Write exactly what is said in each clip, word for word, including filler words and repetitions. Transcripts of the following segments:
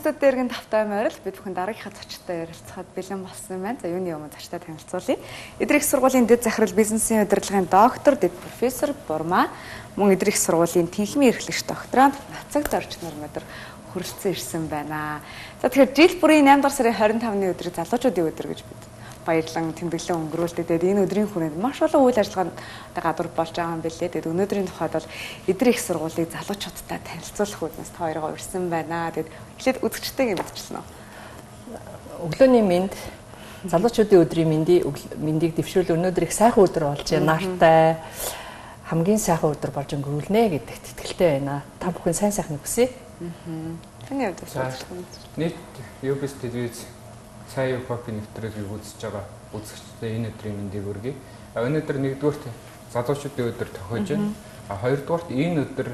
студиэргийн тавтай морил бид бүхэн дараагийнхаа зочдтой ярилцахад бэлэн болсон юм байна. За юуны өмнө зочдтой танилцуулъя. Эдгээр их сургуулийн дэд захирал бизнесийн удирдлагын доктор, дэд профессор Бурмаа, мөн эдгээр их сургуулийн тэнхимийн эрхлэгч докторант Нацаг Зорч Нурмадар хүрэлцэн ирсэн байна. За тэгэхээр жил бүрийн наймд дугаар сарын хорин тавны өдрийг залуучуудын өдөр гэж бид баярлан тэмдэглэн өнгөрүүлдэг. Тэгээд энэ өдрийн хүрээнд маш олон үйл ажиллагаанд гадуур болж байгаа юм билээ. Тэгээд өнөөдрийн тухайд бол эдгээр их сургуулийг залуучуудтай танилцуулах үүднээс та хоёроо урьсан байна. Тэгээд эхлээд үзэгчтэйгээ мэдчихлээ. Өглөөний мэнд залуучуудын өдрийн мэндийг мэндийг дэвшүүл өнөөдөр их сайхан өдөр болж байна. Нартай хамгийн сайхан өдөр болж өнгөрүүлнэ гэдэгт итгэлтэй байна. Та бүхэн сайн сайхныг хүсье. Аа. Таны хувьд нийт юбис телевиз сайн хопын нэвтрүүлгийг үзэж байгаа үзэгчдээ энэ өдрийн мэндийг хүргэе. Өнөөдөр нэгдүгürt залуучуудын өдөр тохиож байна. А хоёрдугаарт энэ өдөр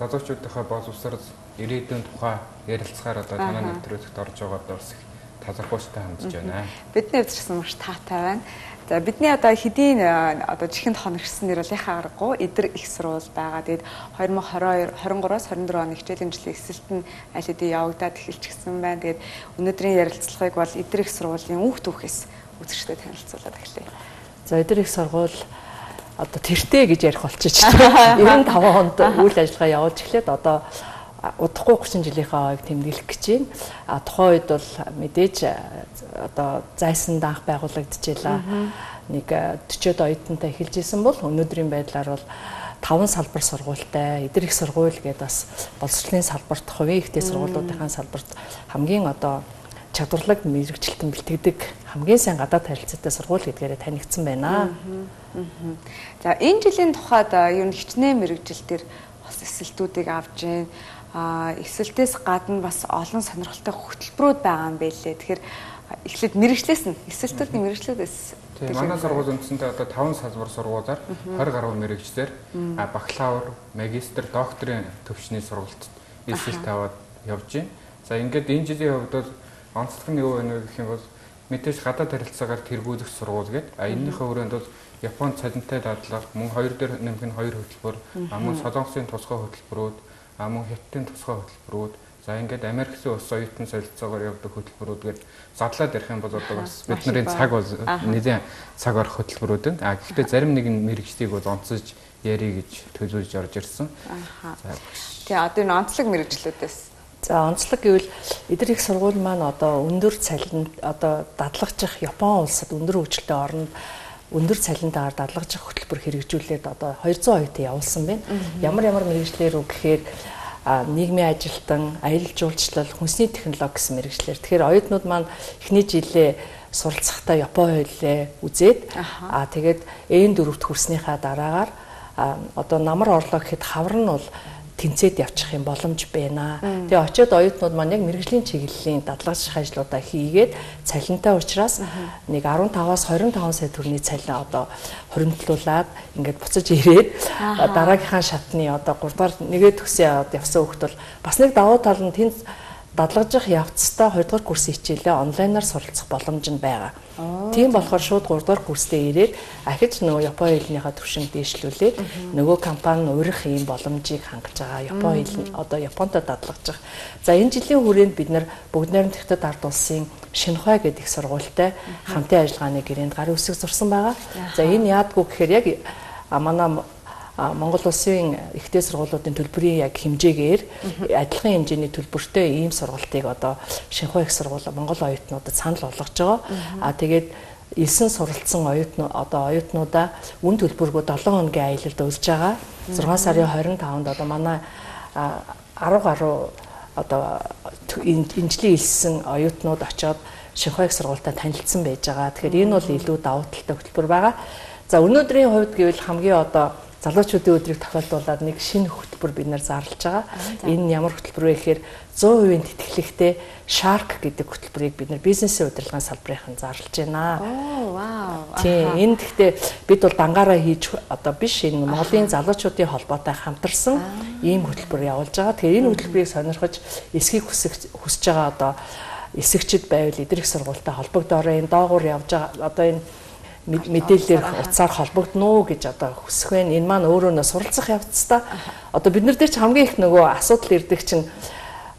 залуучуудынхаа боловсрол ирээдүйн тухай ярилцахаар одоо танай нэвтрүүлэгт орж байгаад бас их талархууштай хандж байна. Бидний хувьд ч гэсэн маш таатай байна. За бидний одоо хэдийн одоо чихэнд хоногшсон нэр бол яхаа аргагүй эдэр их сурвал байгаа. Тэгээд хоёр мың и хоёр двадцать три-аас двадцать четыре оны хичээлийн жилийн эсэлт нь аль хэдийн явагдаад эхэлчихсэн байна. Тэгээд өнөөдрийн ярилцлагыг бол эдэр их сургуулийн үх түүхээс үзэгчдэд танилцуулаад эхлэе. За эдэр их сургууль одоо тэртээ гэж ярих болчих чинь девяносто пять онд үйл ажиллагаа явуулж эхлээд одоо удахгүй тридцать жилийнхаа ойг тэмдэглэх гэж байна. А тухайн үед бол мэдээж одоо зайсан данх байгуулагдчихлаа. Нэг forty оюутантай эхэлж исэн бол өнөөдрийн байдлаар бол таван салбар сургуультай эдэр их сургууль гэдэг бас боловсролын салбарт хувийн ихтэй сургуулиудын салбарт хамгийн одоо чадварлаг мэрэгчлэлтэн бэлтгэдэг хамгийн сайн гадаад харилцаатай сургууль гэдгээрээ танигдсан байна. За энэ жилийн тухайд ер нь хичнээн мэрэгжилтээр бас эсэлтүүдийг авж гин а эсэлтээс гадна бас олон сонирхолтой хөтөлбөрүүд байгаа юм байлээ. Тэгэхээр эхлээд мэрэгчлээс нь эсэлтүүдийн мэрэгчлүүдээс тийм манай сургууль үндсэндээ одоо таван салбар сургуулиар twenty гаруй мэрэгчлэр бакалавр, магистр, докторийн төвчний сургуульд эсэлт аваад явж байна. За ингээд энэ жилийн хувьд бол онцлог нь юу вэ гэх юм бол мэдээж гадаад харилцаагаар тэргүүлэх сургууль гэдэг. А энэнийхээ өрөөнд бол Японд цалинтай дадлага, мөн хоёр дээр нэмэх нь хоёр хөтөлбөр, мөн Солонгосын тусгай хөтөлбөрүүд, мөн Хятадын тусгай хөтөлбөрүүд, за ингээд Америкийн ус оюутан солилцоогоор явдаг хөтөлбөрүүд гээд задлаад ярих юм бол одоо бас бидний цаг бол нэгэн цаг орох хөтөлбөрүүд байна. А гэхдээ зарим нэгэн мэрэгчлийг бол онцолж ярих гэж төлөвлөж орж ирсэн. За тэгээ одоо энэ онцлог мэрэгчлүүдээс за онцлог гэвэл эдгээр их сургууль маань одоо өндөр цалин одоо дадлагжих Япон улсад өндөр хөгжилтэй орнд өндөр цалинтаар дадлагжих хөтөлбөр хэрэгжүүлээд одоо two hundred оюутан явуулсан байна. Ямар ямар мэрэгчлэр үг гэхээр нийгмийн ажилтан, аялал жуулчлал, хүнсний технологи гэсэн мэрэгчлэр. Тэгэхээр оюутнууд маань эхний жилээ суралцахдаа Япон хуулиа үзээд аа тэгээд Э four-т хүрснийхаа дараагаар одоо намар орлоо гэхэд хавар нь бол тэнцээд явчих юм боломж байна. Тэгээ очиод оюутнууд маань яг мэрэгжлийн чиглэлийн дадлагжих ажлуудаа хийгээд цалинтай учраас нэг fifteen-аас twenty-five сая төгрөгийн цалин одоо хуримтлуулад ингээд буцаж ирээд дараагийнхаа шатны одоо three дахь нэгээ төгсөө явсан хүүхд бол бас нэг давуу тал нь тэнд дадлагжих явцдаа two дахь курсын хичээлээ онлайнаар суралцах боломж нь байгаа. Тийм болохоор шууд three дахь курстэй ирээд ахиж нөгөө Япон хэлнийхаа төвшинг дээшлүүлээд нөгөө компани өөрөх ийм боломжийг хангаж байгаа. Япон хэл одоо Японтой дадлагжих. За энэ жилийн хүрээнд бид нар бүгд найрамд Хятад ард улсын Шинхай гэдэг их сургуультай хамтын ажиллагааны гэрээнд гарын үсэг зурсан байгаа. За энэ яадгүй гэхээр яг манай Монгол улсын ихтэй сургуулиудын төлбөрийн яг хэмжээгээр адилхан хэмжээний төлбөртэй ийм сургалтыг одоо Шинхай их сургууль Монгол оюутнуудад санал болгож байгаа. А тэгээд элсэн суралцсан оюутнууд одоо оюутнуудаа үн төлбөргөө seven хоногийн аялалд урьж байгаа. six сарын twenty-five-нд одоо манай ten гаруй одоо энэ жилийн элсэн оюутнууд очоод Шинхай их сургуультай танилцсан байж байгаа. Тэгэхээр энэ бол илүү давуу талтай хөтөлбөр байгаа. За өнөөдрийн хувьд гэвэл хамгийн одоо залуучуудын өдрийг тохиолдуулаад нэг шинэ хөтөлбөр бид нар зарлж байгаа. Энэ ямар хөтөлбөр вэ гэхээр one hundred percent тэтгэлэгтэй Shark гэдэг хөтөлбөрийг бид нар бизнесийн удирдлагын салбарын зарлж байна. Оо вау. Тийм энэ гэхдээ бид бол дангаараа хийж одоо биш энэ Монголын залуучуудын холбоотой хамтарсан ийм хөтөлбөр явуулж байгаа. Тэгэхээр энэ хөтөлбөрийг сонирхож эсхийг хүсэж хүсэж байгаа одоо эсэгчд байвал эдгээр их сургуультай холбогдороо энэ доогуур явж байгаа одоо энэ мэдээлэлээр утсаар холбогдно уу гэж одоо хүсэх байна. Энэ маань өөрөө нөө суралцах явцдаа одоо бид нар дээр ч хамгийн их нөгөө асуудал ирдэг чинь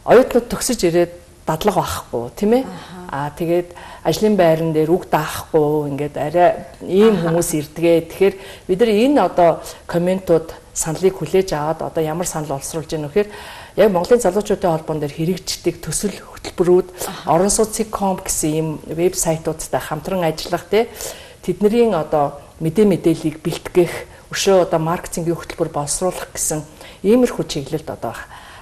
оюутнууд төгсөж ирээд дадлага байхгүй тийм ээ. Аа тэгээд ажлын байран дээр үг даахгүй ингээд арай ийм хүмүүс ирдгээ. Тэгэхээр бид нар энэ одоо комментууд саналыг хүлээж аваад одоо ямар санал олсруулж яах вэ гэхээр яг Монголын залуучуудын холбоон дээр хэрэгждэг төсөл хөтөлбөрүүд орон сууцын ком гэсэн ийм вебсайтуудтай хамтран ажиллах тий тэдний одоо мэдээ мэдээллийг бэлтгэх өшөө одоо маркетингийн хөтөлбөр боловсруулах гэсэн иймэрхүү чиглэлд одоо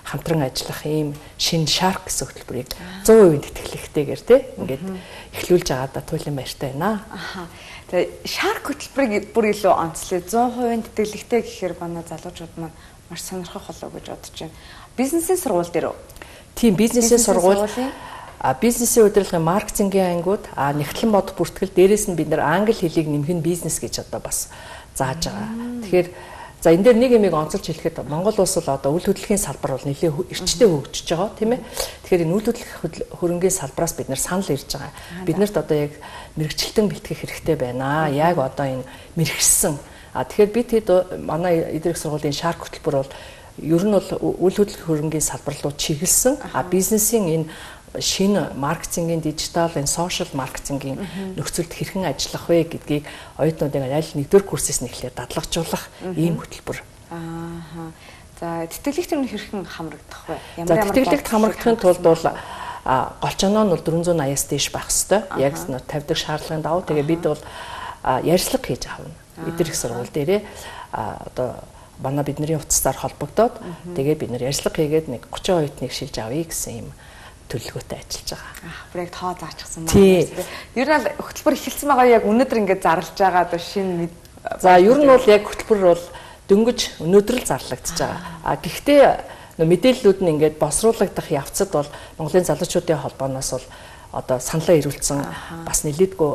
хамтран ажиллах ийм шинэ Shark гэсэн хөтөлбөрийг сто процент тэтгэлэгтэйгээр тий ингээд эхлүүлж байгаадаа туйлын баяртай байна. Аха. Тэгээ Shark хөтөлбөрийг бүр илүү онцлоо сто процент тэтгэлэгтэй гэхээр манай залуучууд маань маш сонирхох болов гэж бодож байна. Бизнесийн сургууль дээр үү? Тийм, бизнесийн сургууль. А бизнесийн удирдлагын маркетингийн ангиуд, а нэгтлэн бодох бүртгэл дээрээс нь бид нар англи хэлийг нэмэх нь бизнес гэж одоо бас зааж байгаа. Тэгэхээр за энэ дээр нэг юмыг онцолж хэлэхэд Монгол улс бол одоо үйл хөдлөлийн салбар бол нэлээд эрчтэй хөгжиж байгаа тийм ээ. Тэгэхээр энэ үйл хөдлөх хөрөнгийн салбараас бид нар санал ирж байгаа. Биднэрт одоо яг мэрэгчлэлтэн бэлтгэх хэрэгтэй байна. Яг одоо энэ мэрэгсэн. А тэгэхээр бид хэд манай эдгээрх сургуулийн Shark хөтөлбөр бол ер нь бол үйл хөдлөх хөрөнгийн салбар руу чиглэсэн. А бизнесийн энэ шинэ маркетингийн дижитал энэ сошиал маркетингийн нөхцөлд хэрхэн ажиллах вэ гэдгийг оюутнуудыг аль нэгдүгээр курсээс нь эхлээд дадлагжуулах ийм хөтөлбөр. Аа. За тэтгэлэгт нь хэрхэн хамрагдах вэ? Ямар ямар тэтгэлэгт хамрагдахын тулд бол голчоноо нь бол дөрвөн зуун аяас дээш байх хэвээр. Яг тавьдаг шаардлагын дагуу тэгээ бид бол ярьцлага хийж авна. Эдгээрх сургууль дээрээ одоо манай бидний утастаар холбогдоод тэгээ бид нар ярьцлага хийгээд нэг гучин оюутныг шилж авъя гэсэн юм төлөвлөгөөтэй ажиллаж байгаа. Аа, бүр яг тоо заачихсан байна. Ер нь хөтөлбөр эхэлсэн байгаа яг өнөөдөр ингээд зарлж байгаа одоо шинэ. За ер нь бол яг хөтөлбөр бол дөнгөж өнөөдөр л зарлагдчихж байгаа. А гэхдээ мэдээллүүд нь ингээд босруулагдах явцад бол Монголын залуучуудын холбооноос бол одоо саналаа ирүүлсэн бас нэлээдгүй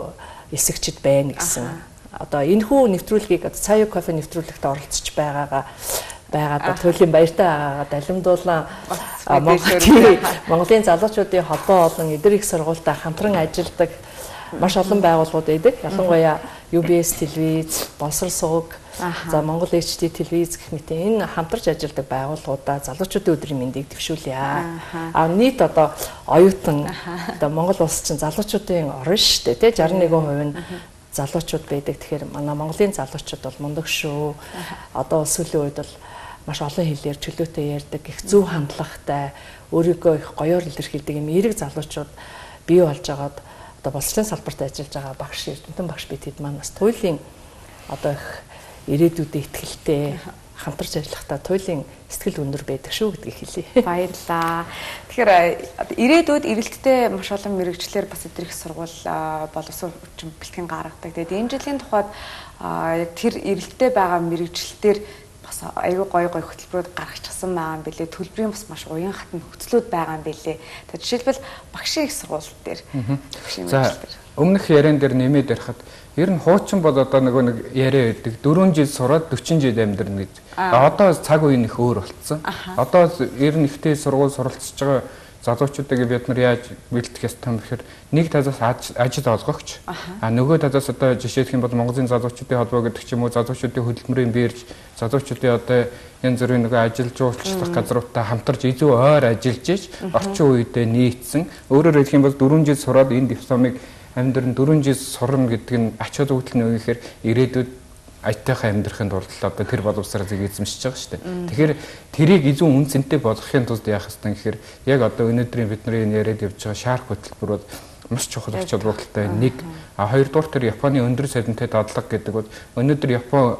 эсэгчд байна гэсэн. Одоо энэхүү нэвтрүүлгийг Цаю кофе нэвтрүүлэгт оролцож байгаагаа байгаад туйлын баяртай байгаагаа далимдуулан Монголын залуучуудын холбоо болон эдгээрх сургуультай хамтран ажилладаг маш олон байгууллагууд байдаг. Ялангуяа ю би эс телевиз, Боловсрол суваг, за Монгол эйч ди телевиз гэх мэт энэ хамтарч ажилладаг байгууллагуудаа залуучуудын өдрийн мэндийг дэвшүүлье. А нийт одоо оюутан одоо Монгол улс чинь залуучуудын орн шүү дээ, тий шестьдесят one percent нь залуучууд байдаг. Тэгэхээр манай Монголын залуучууд бол мундаг шүү. Одоо сүүлийн үед бол маш олон хэлээр чөлөөтэй ярьдаг, их зөв хандлагатай, өөрийгөө их гоёор илэрхийлдэг юм эерэг залуучууд бий болж байгаад одоо боловсролын салбарт ажиллаж байгаа багш, эрдэмтэн багш бид хэд маань бас туйлын одоо их ирээдүйдээ ихтгэлтэй хамтарч ажиллахдаа туйлын сэтгэл өндөр байдаг шүү гэдгийг хэлье. Баярлалаа. Тэгэхээр ирээдүйд эрэлттэй маш олон мэрэгчлэр бас эдгээрх сургууль боловсрол хүчин бэлтгэн гаргадаг. Тэгээд энэ жилийн тухайд яг тэр эрэлттэй байгаа мэрэгчлэлтэр бас аюу гой гой хөтөлбөрүүд гаргачихсан байгаа юм билээ. Төлбөрийн бас маш уян хатан нөхцлүүд байгаа юм билээ. Тэгээд жишээлбэл багшийн их сургууль дээр за өмнөх яриан дээр нэмээд ярихад ер нь хуучин бол одоо нөгөө нэг яриа байдаг дөрвөн жил сураад дөрвөн жил амьдрна гэж. Одоо цаг үеийн их өөр болцсон. Одоо ер нь ихтэй сургууль суралцж байгаа залуучуудыг бид нар яаж бэлтгэх ёстой юм бэхээр нэг талаас ажил олгогч а нөгөө талаас одоо жишээлх юм бол Монголын залуучуудын холбоо гэдэг ч юм уу залуучуудын хөдөлмөрийн бирж залуучуудын одоо янз бүрийн нөгөө ажил жуулчлах газруудтай хамтарч илүү ойр ажиллаж иж орчин үедээ нийцсэн өөрөөр хэлэх юм бол дөрвөн жил сураад энэ дипломыг амьдрын дөрвөн жил сурна гэдэг нь ач холбогдол нь өгөхээр ирээдүйд айтайхан амьдрахын тулд одоо тэр боловсролыг эзэмшиж байгаа шүү дээ. Тэгэхээр тэрийг илүү үнцэнтэй болгохын тулд яах ёстой гэхээр яг одоо өнөөдрийн бидний яриад явж байгаа Shark хөтөлбөр бол маш чухал ач холбогдолтой нэг. А хоёрдугаар тэр Японы өндөр салентэй дадлага гэдэг бол өнөөдөр Япон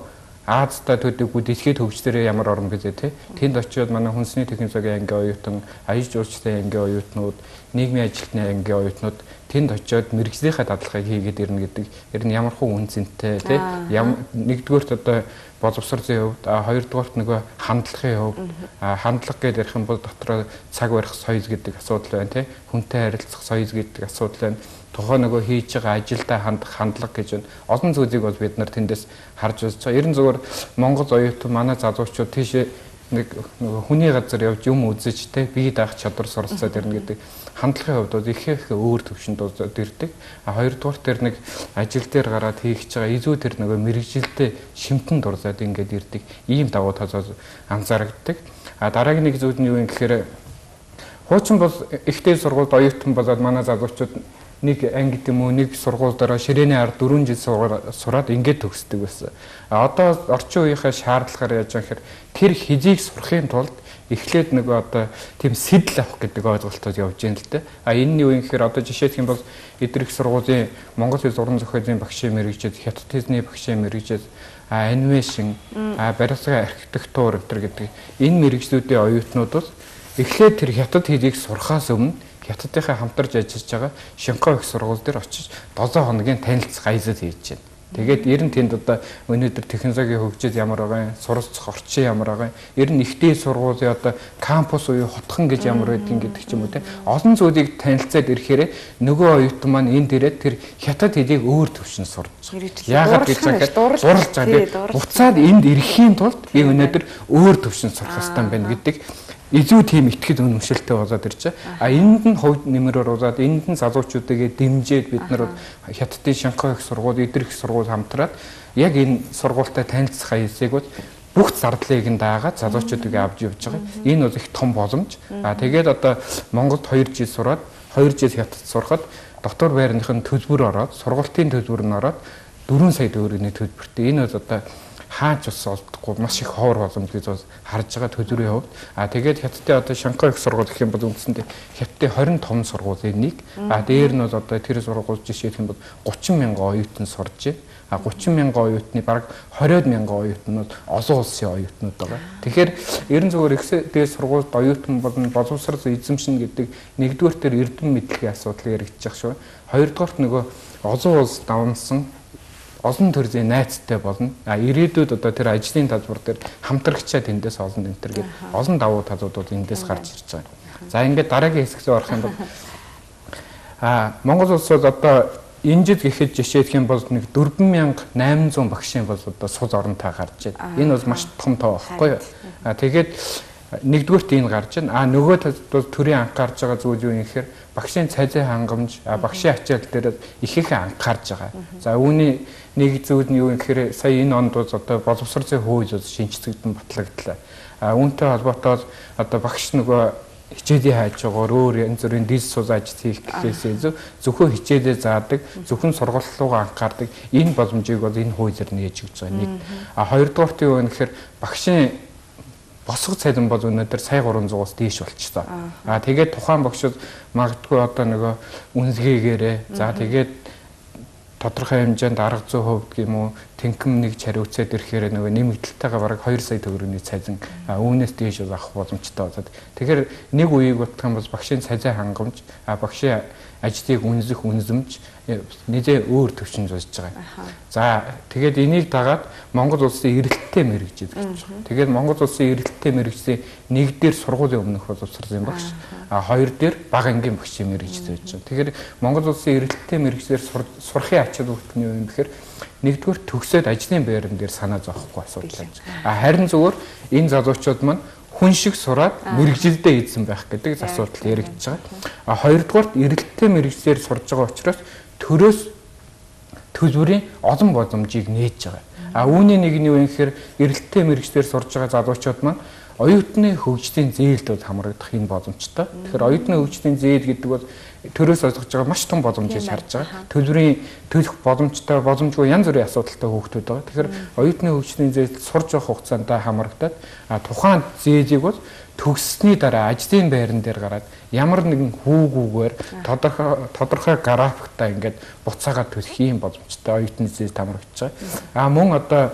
Азтай төдийгүй дэлхийд хөгжлөөрөө ямар орн гэлээ те. Тэнд очиод манай хүнсний технологийн ангийн оюутан, аяж жуулчдын ангийн оюутнууд, нийгмийн ажилтны ангийн оюутнууд тэнд очиод мэрэгжлийнхаа дадлагыг хийгээд ирнэ гэдэг ер нь ямар хуу үнцэнтэй те. Нэгдүгээрт одоо боловсролын хувьд, хоёрдугаарт нөгөө хандлагын хувьд, хандлага гэдэг ярих юм бол дотроо цаг барих соёл гэдэг асуудал байна те. Хүнтэй харилцах соёл гэдэг асуудал байна. Тухайн нөгөө хийж байгаа ажилдаа хандах хандлага гэж байна. Олон зүйлийг бол бид нар тэндээс харж үзэж байгаа. Ерөн зөвөр Монгол оюутан манай залуучууд тийшээ нэг нөгөө хүний газар явж юм үзэж те бие даах чадвар суралцаад ирнэ гэдэг хандлагын хувьд бол их их өөр төвшөнд болоод ирдэг. А хоёрдугаар тэр нэг ажил дээр гараад хийх гэж байгаа илүү тэр нөгөө мэрэгжилтэй шимтэн дурлаад ингээд ирдэг. Ийм давуу тал анзаарагддаг. А дараагийн нэг зүйл нь юу юм гэхээр Хуучин бол ихтэй сургуульд оюутан болоод манай залуучууд нэг анги гэм үү нэг сургууль дараа ширээний ард дөрвөн жил сураад ингээд төгсдөг байсан. А одоо орчин үеийнхээ шаардлагаар яаж байгаа гэхээр тэр хизийг сурахын тулд эхлээд нөгөө одоо тийм сэтэл авах гэдэг ойлголтод явж байна л дээ. А энэ нь юу юм гэхээр одоо жишээлх юм бол эдгэрх сургуулийн Монгол Хэл уран зохиолын багшийн мэргэжил, Хятад хэлний багшийн мэргэжил, анимашн, барилгын архитектур гэдэг энэ мэргэжлүүдийн оюутнууд бол эхлээд тэр Хятад хэлийг сурахаас өмнө Хятадынхаа хамтарч ажиллаж байгаа Шинхой их сургууль дээр очиж долоо хоногийн танилцах аялал хийж байна. Тэгээд ер нь тэнд одоо өнөөдөр технологийн хөгжил ямар байгаа юм, суралцах орчин ямар байгаа юм, ер нь ихтэй сургуулийн одоо кампус уу хотхон гэж ямар байдгийг гэдэг ч юм уу те. Олон зүйлийг танилцаад ирэхээр нөгөө оюутан маань энд ирээд тэр Хятад хэлийг өөр төвшин сурч. Яагаад гэж хэлэхэд дурлж байгаа. Буцаад энд ирэхийн тулд би өнөөдөр өөр төвшин сурах хэрэгтэй байна гэдэг илүү тийм итгэл үнэмшилтэй болоод ирж байгаа. А энд нь хувь нэмэр оруулаад энд нь залуучуудыг дэмжиж бид нар Хятадын Шинхой их сургууль, эдгэрх сургууль хамтраад яг энэ сургуультай танилцах аясыг бол бүх зардлыг нь даагаад залуучуудыг авч явж байгаа. Энэ бол их том боломж. А тэгээд одоо Монголд хоёр жил сураад хоёр жил Хятад сурахад дотор байрныхын төлбөр ороод, сургуулийн төлбөр нь ороод дөрвөн сая төгрөгийн төлбөртэй. Энэ бол одоо хаач ус олдохгүй маш их ховор боломж гэж бол харж байгаа төлбөрийн хувьд. А тэгээд Хятадын одоо Шинхой их сургууль гэх юм бол үндсэндээ Хятадын двадцать том сургуулийн нэг. А дээр нь бол одоо тэр сургууль жишээлх юм бол гучин мянган оюутан сурж байна. А гучин мянган оюутны бараг двадцать мянган оюутан нь олон улсын оюутнууд байгаа. Тэгэхээр ерөн зүгээр ихтэй сургуульд оюутан болон боловсрол эзэмшин гэдэг нэгдүгээр төр эрдэм мэдлэгийн асуудал яригдчих шүү. Хоёрдугаарт нөгөө олон улс давнсан олон төрлийн найзтай болно. А ирээдүйд одоо тэр ажлын талбар дээр хамтрагчаа тэндээс олон энэ төр гээд олон давуу талууд бол эндээс гарч ирж байгаа. За ингээд дараагийн хэсэгт орох юм бол а Монгол улс бол одоо энэ жил гэхэд жишээлх юм бол нэг дөрвөн мянга найман зуун багшийн бол одоо сул оронтой гарч байна. Энэ бол маш том тоо байхгүй юу? А тэгээд нэгдүгээрт энэ гарч байна. А нөгөө талд бол төрийн анхаарж байгаа зүйл юу юм гэхээр багшийн цалин хангамж, багшийн ачаал дээр их их анхаарж байгаа. За үүний нэг зүйл нь юу юм гэхээр сая энэ онд бол одоо боловсролын хууль шинжлэгдэн батлагдлаа. А үүнтэй холбоотой одоо багш нөгөө хичээлийн хайж байгаагаар өөр янз бүрийн дис сул ажил хийх гэхээсээ зөвхөн хичээлээ заадаг, зөвхөн сургалт руугаа анхаардаг энэ боломжийг бол энэ хуулиар нээж өгч байгаа нэг. А хоёрдугаарт юу вэ гэхээр багшийн босго цалин бол өнөөдөр сая гурван зуус дээш болчихсон. А тэгээд тухайн багшд магадгүй одоо нөгөө үнэлгээгээрээ за тэгээд тодорхой хэмжээнд арга зүйн хувьд гэм үү тэнхэм нэг чариуцаад ирэхээр нөгөө нэмэгдэлтэйгээ бараг хоёр сая төгрөгийн цалин үүнээс дээш авах боломжтой болоод тэгэхээр нэг үеийг утгах юм бол багшийн цалин хангамж багшийн ажлыг үнэлэх үнэлэмж нэлээ өөр төвчөнд болж байгаа. За тэгээд энийг дагаад Монгол улсын эрэлттэй мэргэжил гэж байна. Тэгээд Монгол улсын эрэлттэй мэргэжлийн нэг дээр сургуулийн өмнөх боловсролын багш, а хоёр дээр бага ангийн багшийн мэргэжил байж байгаа. Тэгэхээр Монгол улсын эрэлттэй мэргэжлэр сурахын ачаал бүгд нь юу юм бэхээр нэгдүгээр төгсөөд ажлын байран дээр санаа зовхгүй асуудал байж байгаа. А харин зүгээр энэ залуучууд маань хүн шиг сураад мэрэгжилдээ эзэн байх гэдэг асуудал яригдж байгаа. А хоёрдугаарт эрэлттэй мэрэгжлэр сурж байгаа учраас төрөөс төлбөрийн олон боломжийг нээж байгаа. А үүний нэг нь юу юм гэхээр эрэлттэй мэрэгжлэр сурж байгаа залуучууд маань оюутны хөгжлийн зээлд бол хамрагдах энэ боломжтой. Тэгэхээр оюутны хөгжлийн зээл гэдэг бол төрөөс олгож байгаа маш том боломжийг харж байгаа. Төлбөрийн төлөх боломжтой, боломжгүй янз бүрийн асуудалтай хүүхдүүд байгаа. Тэгэхээр оюутны хөгжлийн зээлд сурж явах хугацаанд хамрагдаад тухайн зээлийг бол төгссөний дараа ажлын байран дээр гараад ямар нэгэн хүүгүүгээр тодорхой тодорхой графиктай ингээд буцаагаад төлөх юм боломжтой оюутны зээлд хамрагдаж байгаа. А мөн одоо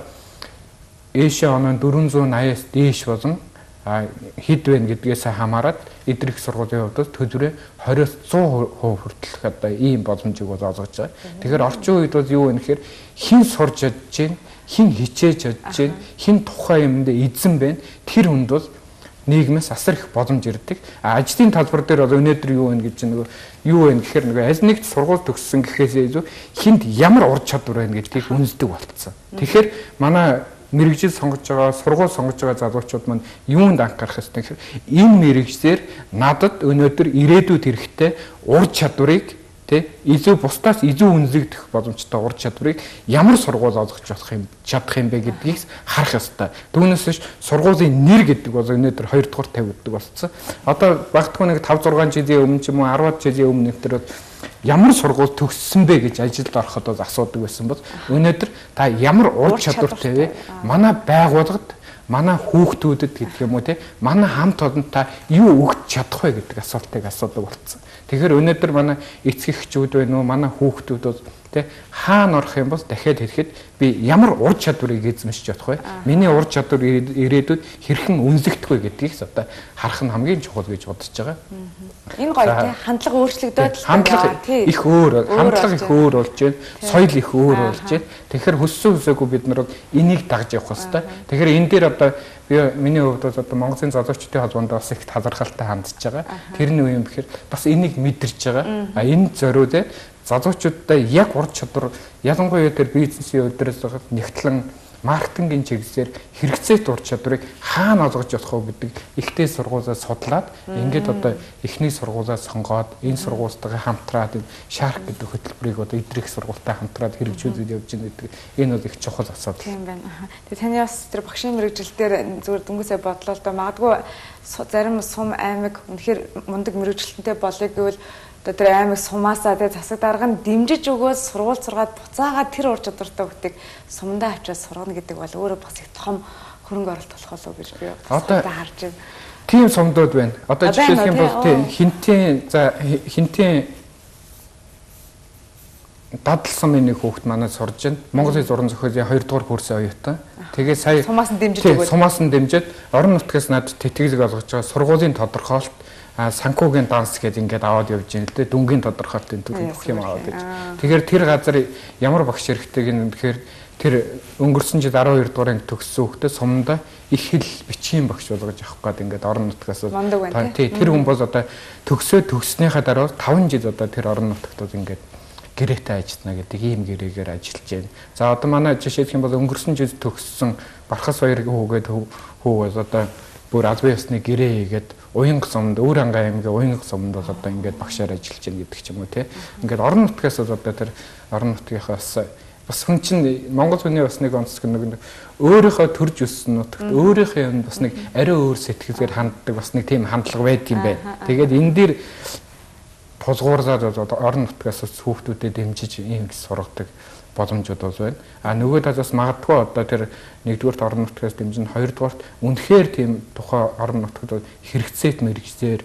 ээшээ оноо дөрвөн зуун аяас дээш болон хэд вэ гэдгээс хамаарат эдгэрх сургуулийн хувьд төлбөрөө двадцать сая хувь хүртэлх одоо ийм боломжийг бол олгож байгаа. Тэгэхээр орчин үед бол юу вэ гэхээр хэн сурж чадж гин, хэн хичээж чадж гин, хэн тухайн юмд эзэн байна. Тэр хүнд бол нийгмээс асар их боломж ирдэг. Ажлын талбар дээр бол өнөөдөр юу вэ гэж нөгөө юу вэ гэхээр нөгөө аль нэгт сургууль төгссөн гэхээсээ илүү хинд ямар ур чадвар байна гэдгийг үнэлдэг болцсон. Тэгэхээр манай мэрэгжил сонгож байгаа, сургууль сонгож байгаа залуучууд маань юунд анхаарах ёстой гэхээр энэ мэрэгжлэр надад өнөөдөр ирээдүйд хэрэгтэй ур чадварыг Тэ илүү бусдаас илүү үнэлэгдэх боломжтой ур чадварыг ямар сургууль олгож болох юм чадах юм бэ гэдгийг харах ёстой. Түүнээс биш сургуулийн нэр гэдэг бол өнөөдөр хоёр дахь тавигддаг болсон. Одоо багтгүй нэг тавь зургаан жилийн өмнө ч юм уу арваад жилийн өмнө нэвтэр ямар сургууль төгссөн бэ гэж ажилд ороход бол асуудаг байсан бол өнөөдөр та ямар ур чадвартай вэ? Манай байгууллагад манай хүүхдүүдэд гэдэг юм уу те манай хамт олонтой юу өгч чадах вэ гэдэг асуултыг асуудаг болсон. Тэгэхээр өнөөдөр манай эцэг эхчүүд байна уу манай хүүхдүүд бол те хаана орох юм бол дахиад ирэхэд би ямар ур чадварыг эзэмшиж чадах вэ? Миний ур чадвар ирээдүйд хэрхэн үнэлэгдэх вэ гэдгийг одоо харах нь хамгийн чухал гэж бодож байгаа. Энэ гоё те хандлага өөрчлөгдөөд л хандлага их өөр хандлага их өөр болж байна. Соёл их өөр болж байна. Тэгэхээр хөссөн хөсөөгүй бид нар энийг дагж явах хэрэгтэй. Тэгэхээр энэ дээр одоо би миний хувьд бол одоо Монголын залуучдын холбоонд бас их талархалтай хандж байгаа. Тэр нь юу юм бэхээр бас энийг мэдэрч байгаа. А энэ зориуд залуучуудаа яг ур чадвар ялангуяа тэр бизнесийн өдрөөс нэгтлэн маркетингийн чиглэлээр хэрэгцээт ур чадварыг хаана олгож болох вэ гэдэг ихтэй сургуулиас судлаад ингээд одоо эхний сургуулиас сонгоод энэ сургуультайгаа хамтраад энэ шарк гэдэг хөтөлбөрийг одоо идрэх сургуультай хамтраад хэрэгжүүлээд явж байгаа гэдэг энэ бол их чухал асуудал. Тийм байна. Тэгээ таны бас тэр багшийн мэрэгжилтээр зүгээр дүнгээсээ бодлоо л да магадгүй зарим сум аймаг үнэхээр мундаг мэрэгжилтэнтэй болъё гэвэл одоо тэр аймаг сумаасаа тэгээ засаг дарга нь дэмжиж өгөөд сургууль сургаад буцаагаад тэр ур чадвартай хүүхдийг сумдаа авчиад сургана гэдэг бол өөрөө бас их том хөрөнгө оруулалт болох болов гэж би одоо харж байна. Тийм сумдууд байна. Одоо жишээлх юм бол тийм хинтийн за хинтийн дадал сумын нэг хүүхэд манай сурж байна. Монголын зураг зохиолын хоёр дахь курсын оюутан. Тэгээ сая сумаас нь дэмжиж өгөөд сумаас нь дэмжиж орон нутгаас надад тэтгэлэг олгож байгаа сургуулийн тодорхойлолт а санхүүгийн данс гэдэг ингээд аваад явж байна л дээ. Дүнгийн тодорхойлолтын төлөв бүх юм аваад гэж. Тэгэхээр тэр газар ямар багш хэрэгтэйг нь тэгэхээр тэр өнгөрсөн жил арван хоёр дугаар анги төгссөн хүүхдээ сумдаа их хэл бичгийн багш болгож авах гээд ингээд орон нутгаас тий тэр хүн бол одоо төгсөө төгснөхийн дараа таван жил одоо тэр орон нутагт ингээд гэрээтэй ажиллана гэдэг ийм гэрээгээр ажиллаж байна. За одоо манай жишээлх юм бол өнгөрсөн жил төгссөн Бархас баяр хүүгээд хүү бол одоо бүр албан ёсны гэрээ хийгээд Уянга сумд өөр ангаа аймгийн Уянга сумд бол одоо ингээд багшаар ажиллаж байна гэдэг ч юм уу тий. Ингээд орон нутгаас бол одоо тэр орон нутгийнхаас бас хүн чинь Монгол хүний бас нэг онцлог нэг өөрийнхөө төрж өссөн нутагт өөрийнхөө юм бас нэг ариун өөр сэтгэлээр ханддаг бас нэг тийм хандлага байдаг юм байна. Тэгээд энэ дээр тулгуурлаад орон нутгаас хүүхдүүдэд дэмжиж ийм сургадаг боломжууд бол байна. А нөгөө талаас магадгүй одоо тэр нэгдүгээр орон нутгаас дэмжин хоёрдугаарт үнэхээр тийм тухай орон нутгад хэрэгцээт мэрэгчээр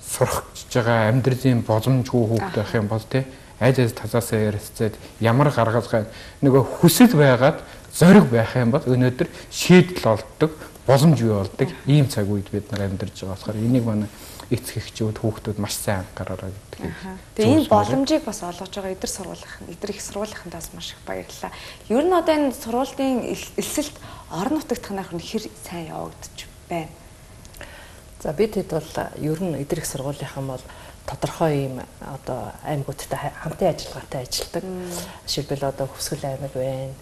сурахж байгаа амьдралын боломжгүй хүүхд байх юм бол тий аль аль талаасаа ярилцээд ямар гаргалгаа нөгөө хүсэл байгаад зориг байх юм бол өнөөдөр шийдэл олддог боломж бий болдог ийм цаг үед бид нар амьдарч байгаа болохоор энийг манай эцэг эхчүүд хүүхдүүд маш сайн анхаараарай гэдэг. Тэгээ энэ боломжийг бас олгож байгаа эдэр сургуулийн эдэр их сургуулийнхантаас маш их баярлалаа. Ер нь одоо энэ сургуулийн элсэлт орон нутагт танах нь хэр сайн явагдаж байна. За бид хэд бол ер нь эдэр их сургуулийнхан бол тодорхой ийм одоо аймагуудтай хамтын ажиллагаатай ажилладаг. Жишээлбэл одоо Хүсгэл аймаг байна,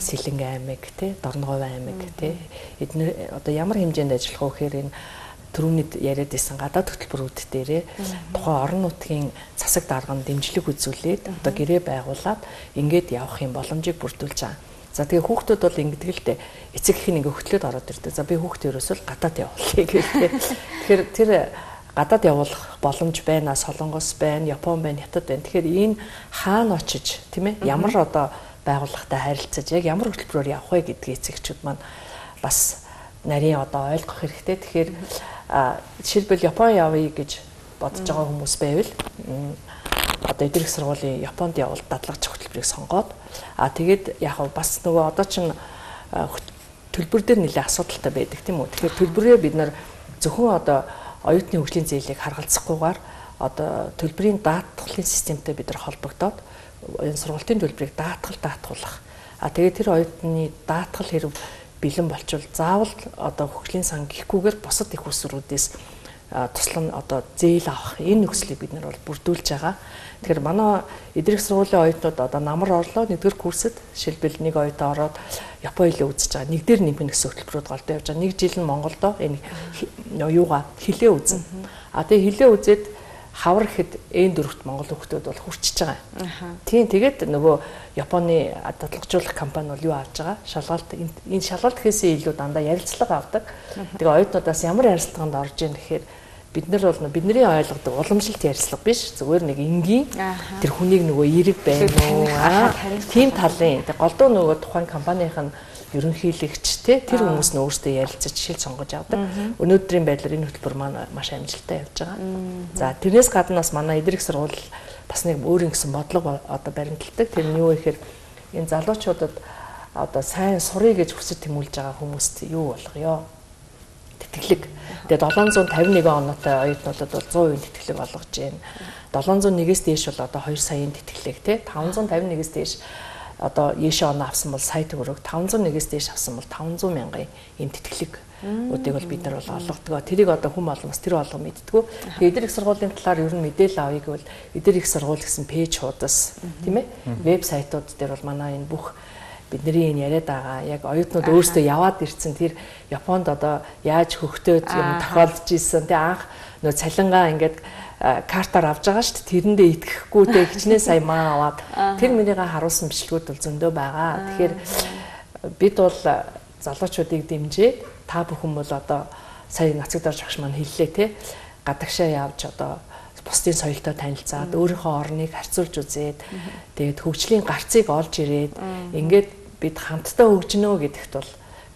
Сэлэнг аймаг, тий, Дорногов аймаг, тий. Эдгээр одоо ямар хэмжээнд ажиллах вэ гэхээр энэ түрүүний яриад исэн гадаад хөтөлбөрүүд дээрээ тухайн орон нутгийн засаг дарганд дэмжлэг үзүүлээд одоо гэрээ байгуулад ингээд явах юм боломжийг бүрдүүлж байгаа. За тэгээ хүүхдүүд бол ингэдэг л дээ. Эцэг их нь ингээ хөтлөөд ороод ирдэг. За би хүүхдээ ерөөсөө гадаад явуулъя гэх тээ. Тэгэхээр тэр гадаад явуулах боломж байна, Солонгос байна, Япон байна, Хятад байна. Тэгэхээр энэ хаана очиж тийм ээ ямар одоо байгууллагатай харилцаж яг ямар хөтөлбөрөөр явах вэ гэдгийг эцэгчүүд маань бас нарийн одоо ойлгох хэрэгтэй. Тэгэхээр жишээлбэл Япон явъя гэж бодож байгаа хүмүүс байвал одоо эдгээр их сургуулийн Японд явал дадлагч хөтөлбөрийг сонгоод а тэгээд яг бас нөгөө одоо чинь төлбөр дээр нэлээд асуудалтай байдаг тийм үү. Тэгэхээр төлбөрөө бид нар зөвхөн одоо оюутны хөгжлийн зээлийг харгалзахгүйгээр одоо төлбөрийн даатгалын системтэй бид нар холбогдоод энэ сургалтын төлбөрийг даатгал даатгуулах. А тэгээд тэр оюутны даатгал хэрэг бэлэн болчвол заавал одоо хөгжлийн сан гихгүйгээр бусад их усруудаас туслан одоо зээл авах энэ нөхцөлийг бид нар бол бүрдүүлж байгаа. Тэгэхээр манай эдгээр их сургуулийн оюутнууд одоо намар орлоо нэгдүгээр курсэд жишээлбэл нэг оюутан ороод Япон хэлээ үзэж байгаа. Нэг дээр нэмэх гэсэн хөтөлбөрүүд голдоо явж байгаа. Нэг жил нь Монголдо энэ юугаа хэлээ үзнэ. А тэгээ хэлээ үзээд хавар ихэд Н дөрөвт Монгол хүүхдүүд бол хүрчиж байгаа. Тийм тэгээд нөгөө Японы дадлгажуулах компани бол юу авж байгаа? Шалгалт энэ шалгалт гэхээсээ илүү дандаа ярилцлага авдаг. Тэгээ оюутнуудаас ямар ярилцлаганд орж ийн гэхээр бид нар бол бидний ойлгодог уламжлалт ярилцлага биш. Зүгээр нэг энгийн тэр хүнийг нөгөө эерэг байна уу? Тийм талын. Тэгээ голдуу нөгөө тухайн компанийн ерөнхийлөгч те тэр хүмүүс нь өөрсдөө ярилцаж жишээл сонгож авдаг. Өнөөдрийн байдлаар энэ хөтөлбөр маань маш амжилттай явж байгаа. За тэрнээс гадна бас манай эдрэх сургууль бас нэг өөрийн гэсэн бодлого одоо баримталдаг. Тэр нь юу вэ гэхээр энэ залуучуудад одоо сайн сурыг гэж хүсэж тэмүүлж байгаа хүмүүст юу болгоё? Тэтгэлэг. Тэгээ долоон зуун тавин нэгэн оноотой оюутнуудад бол зуун хувийн тэтгэлэг олгож байна. долоон зуун нэгээс дээш бол одоо хоёр саяын тэтгэлэг те таван зуун тавин нэгээс дээш одоо Ешэ оноо авсан бол сая төгрөг, таван зуун нэгээс дээш авсан бол таван зуун мянган ийм тэтгэлэг үдийг бол бид нар бол олгодог. Тэрийг одоо хүм олон бас тэр болгоо мэддэггүй. Тэгээд эдгээр их сургуулийн талаар ер нь мэдээлэл авъя гэвэл эдгээр их сургууль гэсэн пэйж хуудас тийм ээ вебсайтууд дээр бол манай энэ бүх бидний энэ яриад байгаа яг оюутнууд өөрсдөө яваад ирсэн тэр Японд одоо яаж хөгтөөд юм тохиолдож исэн тий анх нөө цалингаа ингээд картаар авж байгаа шүү дээ. Тэрэндээ итгэхгүй те хичнээн сая маа аваад тэр мөрийгээ харуулсан бичлэгүүд бол зөндөө байгаа. Тэгэхээр бид бол залуучуудыг дэмжиж та бүхэн бол одоо сая нацаг дарж багш маань хэллээ те гадагшаа явж одоо бусдын соёлтой танилцаад өөрийнхөө орныг харьцуулж үзээд тэгээд хөгжлийн гарцыг олж ирээд ингээд бид хамтдаа хөгжинөө гэдэгт бол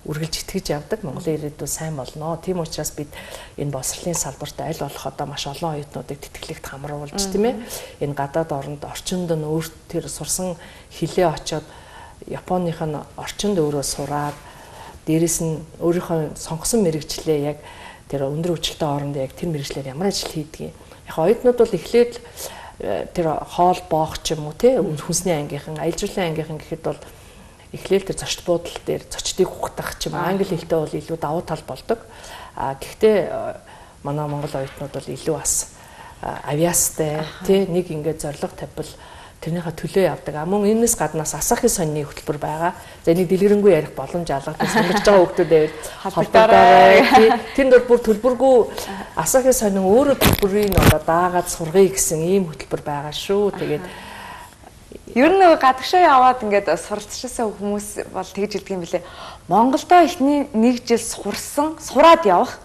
үргэлж итгэж явдаг. Монголын ирээдүй сайн болно. Тийм учраас бид энэ боловсролын салбарт аль болох одоо маш олон оюутнуудыг тэтгэлэгт хамруулж тийм ээ. Энэ гадаад оронд орчинд нь өөр тэр сурсан хилээ очоод Японых нь орчинд өөрөө сураад дээрэс нь өөрийнхөө сонгосон мэрэгчлээ яг тэр өндөр хүчлтэй оронд яг тэр мэрэгчлэр ямар ажил хийдгийг. Яг оюутнууд бол эхлээд тэр хоол боох ч юм уу тий хүнсний ангийнхан, аялал жуулчлалын ангийнхан гэхэд бол эхлээл тэр зочд буудал дээр зочдыг ухтах ч юм англи хэлтэй бол илүү давуу тал болдог. А гэхдээ манай монгол оюутнууд бол илүү бас авиастай тий нэг ингээд зориг тавьбал тэрнийхээ төлөө явдаг. А мөн энэс гаднаас асахын сонины хөтөлбөр байгаа. За энийг дэлгэрэнгүй ярих боломж алгадсан сонгож байгаа хүмүүс байвал холбогдоорой тий. Тэнд бол бүр төлбөргүй асахын сонин өөрөө төлбөрийг одоо даагаад сургая гэсэн ийм хөтөлбөр байгаа шүү. Тэгээд ер нь гадагшаа яваад ингээд суралцчихсан хүмүүс бол тэгж хэлдэг юм билээ. Монголдо эхний нэг жил сурсан, сураад явах,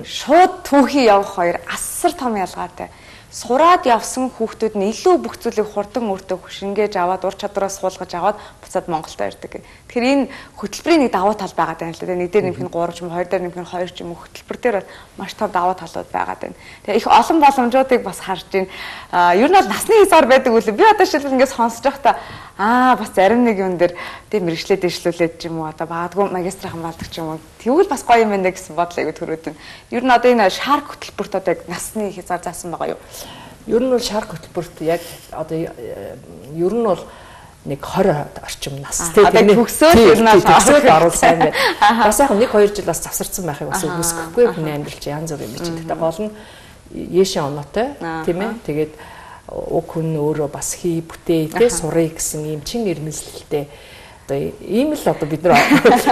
шууд түүхий явах хоёр асар том ялгаатай. Сураад явсан хүүхдүүд нь илүү бүх зүйлийг хурдан өөртөө хөшингээж аваад ур чадвараас суулгаж аваад буцаад Монголдо ирдэг. Тэгэхээр энэ хөтөлбөрийн нэг давуу тал байгаа даа л да. Нэг дээр нэмэх нь гурав ч юм уу, хоёр дээр нэмэх нь хоёр ч юм уу хөтөлбөр дээр бол маш том давуу талууд байгаа даа. Тэгээ их олон боломжуудыг бас харж байна. Аа ер нь бол насны хязгаар байдаг үлээ. Би одоо шилбэл ингээс сонсож байхдаа аа бас зарим нэг юм дээр тийм мэрэгчлээ дэвшлүүлээд ч юм уу одоо баадгүй магистрийн хамгаалдаг ч юм уу. Тэгвэл бас гоё юм байна гэсэн бодол айгу төрөөд байна. Ер нь одоо энэ шарк хөтөлбөрт одоо насны хязгаар заасан байгаа юу? Ер нь бол шарк хөтөлбөрт яг одоо ер нь бол нэг хорь орчим нас тийм төгсөөл ер нь төгсөөл оруулах сайн байна. Бас яг нэг хоёр жил бас завсарсан байхыг бас үгүйсэхгүй хүний амьдрал чи янз бүр юм чи. Тэгтээ гол нь Ешэ оноотой тийм ээ. Тэгээд уг хүн өөрөө бас хий бүтээ тий сурыг гэсэн юм чин ирмэлзэлтэй одоо ийм л одоо бид нар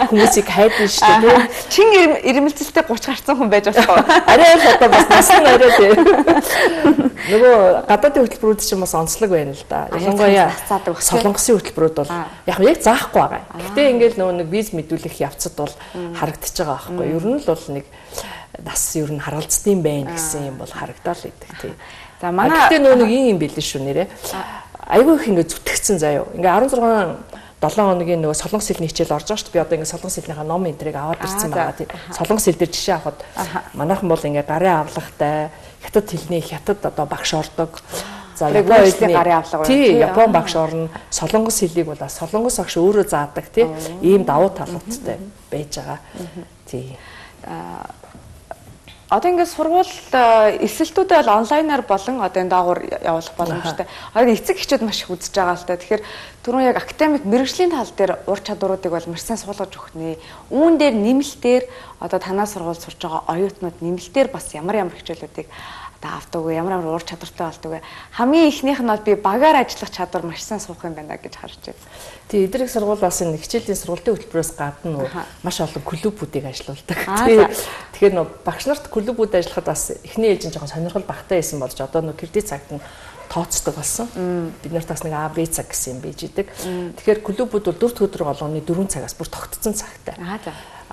хүмүүсийг хайдсан шүү дээ тий чин ирмэлзэлтэй гуч гарцсан хүн байж болох. Арай л одоо бас нас нь арай тий нөгөө гадаадын хөтөлбөрүүд чинь бас онцлог байна л да. Ялангуяа солонгосын хөтөлбөрүүд бол яг яг заахгүй байгаа. Гэтэ ингээл нөгөө нэг виз мэдүүлэх явцад бол харагдчихж байгаа байхгүй. Ер нь л бол нэг нас ер нь харгалзсан байна гэсэн юм бол харагдаад л идэг тий. За манай гэтээ нөө нэг юм билээ шүү нэрээ. Айгүй их ингэ зүтгэцсэн заяа. Ингээ арван зургаан долоон хоногийн нөгөө солонгос хэлний хичээл орж байгаа шүү дээ. Би одоо ингээ солонгос хэлнийхээ ном энтрийг аваад ирсэн байгаа тийм. Солонгос хэл дээр жишээ авахад манайхан бол ингээ гарын авлагтай хятад хэлний хятад одоо багш ордог. За Япон хэлний гарын авлага байна. Тий, Япон багш орно. Солонгос хэлийг бол солонгос багш өөрөө заадаг тийм. Ийм давуу талуудтай байж байгаа. Тий. Одоо ингээд сургууль эсэлтүүдээ бол онлайнаар болон одоо энэ даагуур явуулах боломжтой. Одоо эцэг эхчүүд маш их үзэж байгаа л та. Тэгэхээр түрүүн яг академик мэрэгжлийн тал дээр ур чадваруудыг бол маш сайн суулгаж өгөх нэ. Үүн дээр нэмэлтээр одоо танаа сургууль сурж байгаа оюутнууд нэмэлтээр бас ямар ямар хичээлүүдийг сургалтаа авдаг вэ? Ямар ямар уур чадвартай болдог вэ? Хамгийн ихнийх нь бол би багаар ажиллах чадвар маш сайн суух юм байна гэж харж байна. Тэгээ эдрэг сургууль бас энэ хичээлийн сургалтын хөтөлбөрөөс гадна маш олон клубүүдийг ажилуулдаг. Тэгэхээр нөө багш нарт клубүүд ажиллахад бас эхний ээлжин жоохон сонирхол багтаа байсан болж одоо нөө кредит цагт нь тооцдог болсон. Бид нарт бас нэг А Б цаг гэсэн юм бийж идэг. Тэгэхээр клубүүд бол дөрвд өдөр болгоны дөрвөн цагаас бүр тогтцсон цагтай.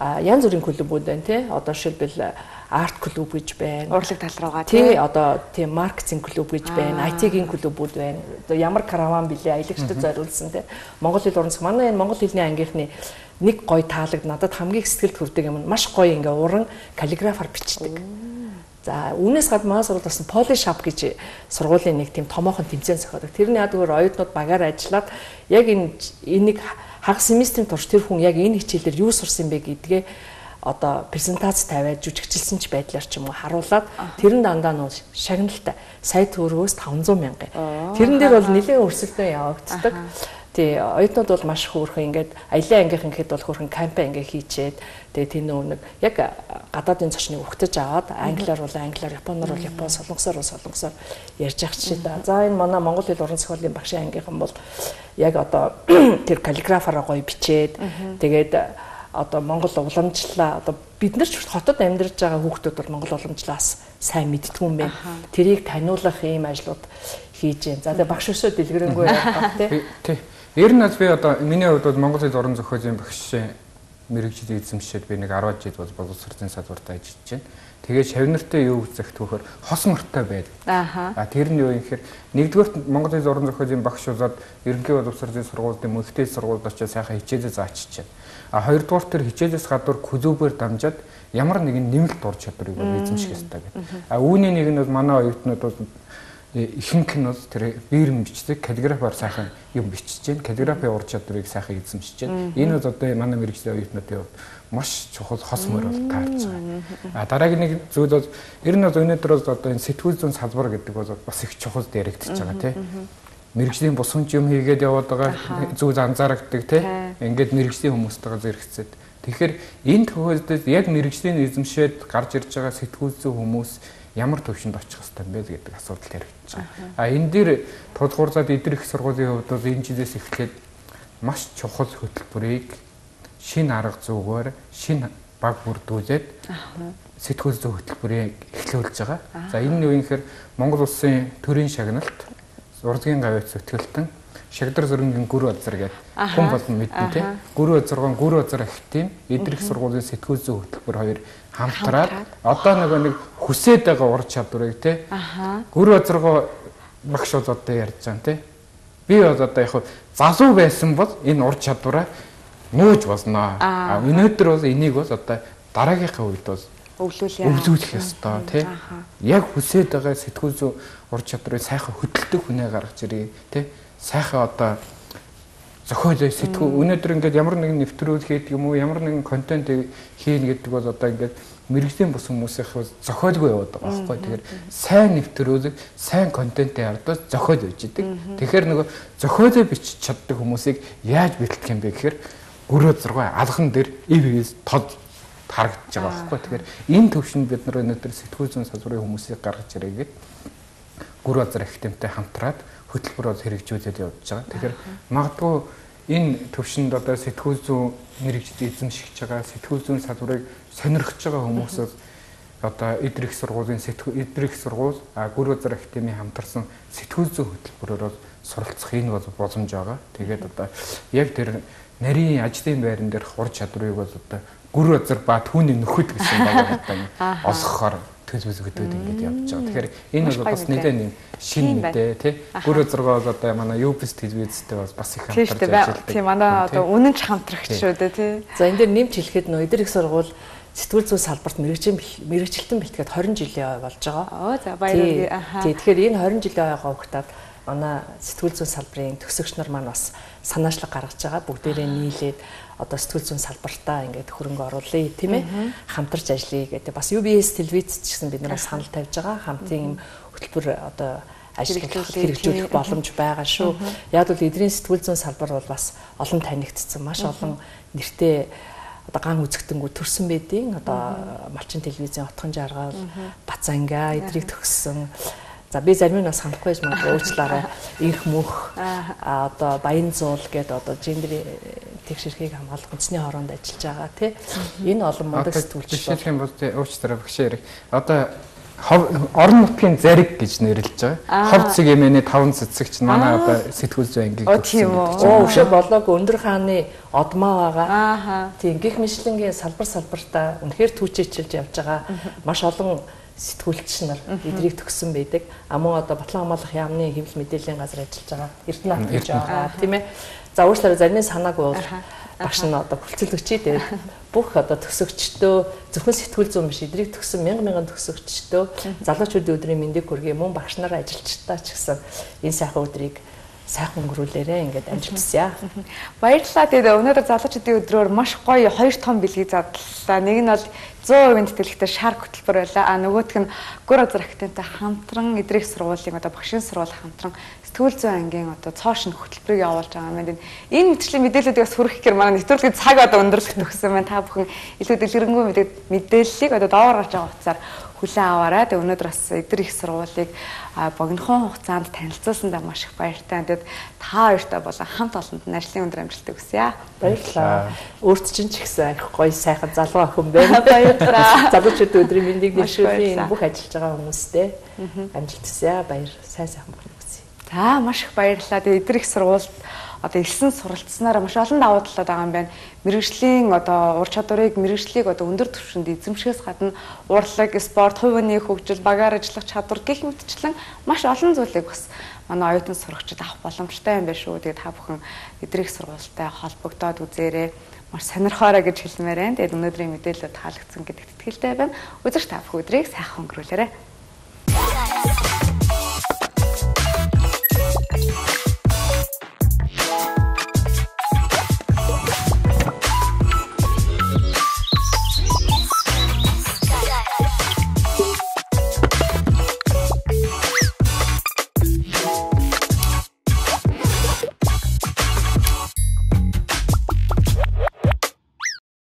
А янз бүрийн клубүүд байна тий. Одоо жишээлбэл арт клуб гэж байна. Урлаг тал руугаа тий. Одоо тий маркетинг клуб гэж байна. ай ти-гийн клубүүд байна. Одоо ямар караван билээ аялагчдад зориулсан тий. Монгол хэл уран зохиол манай энэ монгол хэлний ангийнхны нэг гоё таалагд надад хамгийн сэтгэлд хүрдэг юм. Маш гоё ингээ уран каллиграфаар бичдэг. За үүнээс гадна манай сургуульд бас Polishop гэж сургуулийн нэг тийм томоохон тэмцээн зохиодог. Тэрний ядгаар оюутнууд багаар ажиллаад яг энэ энийг хагас семестрийн турш тэр хүн яг энэ хичээлээр юу сурсан бэ гэдгээ одоо презентац тавиад жүжигчилсэн ч байдлаар ч юм уу харуулад тэрэн дандаа нуу шагналтай сая төгрөгөөс таванзаа мянга. Тэрэн дээр бол нэлээд өрсөлдөөн явагддаг. Тий оюутнууд бол маш хөөрхөн ингээд аялын ангийнхан гэхэд бол хөөрхөн кампайн ингээ хийчээд тэгээ тэр нэг яг гадаадын зочныг өгтөж аваад англиар бол англиар, японоор бол япон, солонгосоор бол солонгосоор ярьж ах чинь да. За энэ манай монгол хэл уран зохиолын багшийн ангийнхан бол яг одоо тэр каллиграфаараа гоё бичээд тэгээд одоо монгол уламжлалаа одоо бид нар ч хотод амьдарч байгаа хүүхдүүд бол монгол уламжлалаас сайн мэддгүй юм байна. Тэрийг таниулах ийм ажлууд хийж байна. За тэгээ багш өсөө дэлгэрэнгүй явах тий. Тий. Ер нь би одоо миний хувьд бол Монгол хэл уран зохиолын багш мэрэгжил эзэмшээд би нэг арван жил бол боловсролын салбарт ажиллаж байна. Тэгээд шавнартай юу үзэх түүхээр хос мортой байдаг. Аа. Тэр нь юу юм гэхээр нэгдүгээр Монгол хэл уран зохиолын багш болоод ерөнхий боловсролын сургуульд мөнхтэй сургуульд очиж сайхан хичээлээ заачиж байна. А хоёрдугаар тэр хичээлээс гадуур күзүүбээр дамжаад ямар нэгэн нэмэлт ур чадварыг бол эзэмших ёстой гэдэг. А үүний нэг нь бол манай оюутнууд бол ихэнх нь бол тэр биерэн бичдэг каллиграфаар сайхан юм бичиж байна. Каллиграфийн ур чадварыг сайхан эзэмшиж байна. Энэ бол одоо манай мэрэгжлийн оюутнуудын хувьд маш чухал хос мөр бол таарч байгаа. А дараагийн нэг зүйл бол ер нь бол өнөөдөр бол одоо энэ сэтгүүл зүйн салбар гэдэг бол бас их чухал яригдчихэж байгаа тийм. Мэргэжлийн бусамж юм хийгээд яваад байгаа зүйл анзаарагддаг тийм. Ингээд мэргэжлийн хүмүүстэйгээ зэрэгцээд. Тэгэхээр энэ тохиолдолд яг мэргэжлийн эзэмшээд гарч ирж байгаа сэтгүүл зүйн хүмүүс ямар төвшөнд очих хэрэгтэй юм бэ гэдэг асуудал яригдчихэж байгаа. А энэ дээр тулгуурлаад эдгээр их сургуулийн хувьд бол энэ жилээс эхлээд маш чухал хөтөлбөрийг шинэ арга зүйгээр шинэ баг бүрдүүлээд сэтгүүл зүйн хөтөлбөрийг эхлүүлж байгаа. За энэ нь юу юм гэхээр Монгол улсын төрийн шагналт урлагийн гавьяц зүтгэлтэн Шагдар Зөрөнгийн гүр базар гэдэг хүн болгон мэднэ тий. Гүр базаргон гүр базар ахтын эдрэх сургуулийн сэтгүүл зүйн хөтөлбөр хоёр хамтраад одоо нөгөө нэг хүсээд байгаа ур чадварыг тий. Гүр базаргоо багш бол одоо ярьж байгаа тий. Би бол одоо яг залуу байсан бол энэ ур чадвараа нөөж болно. А өнөөдөр бол энийг бол одоо дараагийнхаа үед бол өвлүүлэх ёстой тий. Яг хүсээд байгаа сэтгүүл зүйн ур чадрыг сайхан хөдөлдөг хүнээ гаргаж ирээ тий. Сайхан одоо зохиолоо сэтгүү өнөөдөр ингээд ямар нэгэн нэвтрүүлэг хийдэг юм уу ямар нэгэн контент хийн гэдэг бол одоо ингээд мэрэгжлийн бус хүмүүсийн зохиолгүй яваад байгаа байхгүй. Тэгэхээр сайн нэвтрүүлэг, сайн контентын ардаас зохиол өгч идэг. Тэгэхээр нөгөө зохиолоо бичиж чаддаг хүмүүсийг яаж бэлтгэх юм бэ гэхээр гүрөө зургаа алхан дээр ив ивс тод харагдаж байгаа байхгүй. Тэгэхээр энэ төвшөнд бид нар өнөөдөр сэтгүүл зүйн салбарын хүмүүсийг гаргаж ирээгээд гүр базар ахтэмтэй хамтраад хөтөлбөр бол хэрэгжүүлээд явж байгаа. Тэгэхээр магадгүй энэ төвшөнд одоо сэтгүүл зүйн мэрэгжил эзэмшиж байгаа сэтгүүл зүйн салбарыг сонирхож байгаа хүмүүс одоо эдрэх сургуулийн сэтгүүл эдрэх сургууль гүр базар ахтемийн хамтарсан сэтгүүл зүйн хөтөлбөрөөр суралцах энэ бол боломж байгаа. Тэгээд одоо яг тэр нарийн ажлын байран дээрх ур чадварыг бол одоо гүр базар ба түүний нөхөд гэсэн байгаа одоо олгохоор төлөвлөгөөд ингэж явж байгаа. Тэгэхээр энэ бол бас нэлээд нэг шинэ мэдээ тий. Гүр базаргаа бол одоо манай Юбис телевизтэй бас их хамтарч ажилладаг. Тийм манай одоо үнэн ч хамтрагч шүү дээ тий. За энэ дээр нэмж хэлэхэд нөө эдгээр их сургууль сэтгүүл зүйн салбарт мэрэгжил мэрэгжилтэн бэлтгээд двадцать жилийн ой болж байгаа. Оо за баярлалаа. Аха. Тий. Тэгэхээр энэ двадцать жилийн ойгоо өгтаад манай сэтгүүл зүйн салбарын төгсөгч нар маань бас санаачлаг гаргаж байгаа. Бүгдээрээ нийлээд одоо сэтгүүл зүйн салбартаа ингээд хөрөнгө оруулъя тийм ээ хамтарч ажиллая гэдэг. Бас ю би эс телевиз ч гэсэн бид нараас санал тавьж байгаа. Хамтын хөтөлбөр одоо ажиллах хэрэгжүүлэх боломж байгаа шүү. Яг бол эдрийн сэтгүүл зүйн салбар бол бас олон танигдсан маш олон нэртэй одоо ган үзэгдэнгүү төрсэн байдیں۔ Одоо малчин телевизийн отхон жаргал, Бацанга эдрийг төгссөн. За би зарим нь бас хандахгүй байж магадгүй уучлаарай. Инх мөх одоо баян зуул гэдэг одоо гендер тэгшэрхийг хамгаалах үндэсний хороонд ажиллаж байгаа тий. Энэ олон мундаг сэтгүүлч. Жишээлх юм бол уучлаарай багшаа. Одоо орон нутгийн зариг гэж нэрлэж байгаа. Хов цэг эмээний таван цэцэгч манай одоо сэтгүүл зүй ангийг төгсөн гэдэг. Оо өшөө болоог өндөр хааны одмоо байгаа. Тийм гих мэтлэнгийн салбар салбартаа үнэхээр түүчээчилж явж байгаа. Маш олон сэтгүүлч нар эдрийг төгссөн байдаг. А мөн одоо Батлан хамгаалах яамны хэвлэл мэдээллийн газар ажиллаж байгаа. Эрдэнэт гэж байгаа тийм ээ. За уучлаарай зарим санаагүй бол багш нь одоо хүлцэлгчий дээр бүх одоо төгсөгчдөө зөвхөн сэтгүүл зүйн биш эдрийг төгссөн мянган мянган төгсөгчдөө залуучуудын өдрийн мэндийг хүргэе мөн багш нараа ажилчдаа ч гэсэн энэ сайхан өдрийг сайхан өнгөрүүлээрэ ингээд амжилтсаа. Баярлалаа. Тэгээд өнөөдөр залуучуудын өдрөөр маш гоё хоёр том бэлгийг задлаа. Нэг нь бол сто процент тэтгэлэгтэй шар хөтөлбөр байлаа. А нөгөөх нь Гүр Азар актентай хамтран эдрийг сургуулийн одоо багшийн сургууль хамтран сэтгүүл зүйн ангийн одоо цоошин хөтөлбөрийг явуулж байгаа юм байна. Энэ мэтчлийн мэдээллүүдийг бас хүргэх гэр манай нэвтрүүлгийн цаг одоо өндөрлөх төгссөн байна. Та бүхэн илүү дэлгэрэнгүй мэдээллийг одоо доогоор гарч байгаа утсаар хүлээн аваарай. Тэгээ өнөөдөр бас эдгээр их сургуулийг богинохон хугацаанд танилцуулсандаа маш их баяртай. Тэгээд та хоёртай болон хамт олонд нь ажлын өндөр амжилт хүсье. Баярлалаа. Өөрт чинь ч ихсэн их гоё сайхан залуу охин байна. Баярлалаа. Залуучууд өдрийн мэндийг дэвшүүлэн бүх ажиллаж байгаа хүмүүстээ амжилт хүсье. Баяр сайн сайхан болох хүсье. За маш их баярлалаа. Тэгээд эдгээр их сургуульд одоо элсэн суралцсанаар маш олон давуу талууд байгаа юм байна. Мэргэжлийн одоо ур чадварыг мэргэжлийг одоо өндөр түвшинд эзэмшихээс гадна урлаг, спорт, хувийн хөгжил, багаар ажиллах чадвар гэх мэтчлэн маш олон зүйлийг бас манай оюутан сурагчид авах боломжтой юм байна шүү. Тэгээд та бүхэн эдрийг сургуультай холбогдоод үзээрэй. Маш сонирхоорой гэж хэлмээр байна. Тэгээд өнөөдрийн мэдээлэлд таалагдсан гэдэгт итгэлтэй байна. Үзэгч та бүхэн өдрийг сайхан өнгөрүүлээрэй.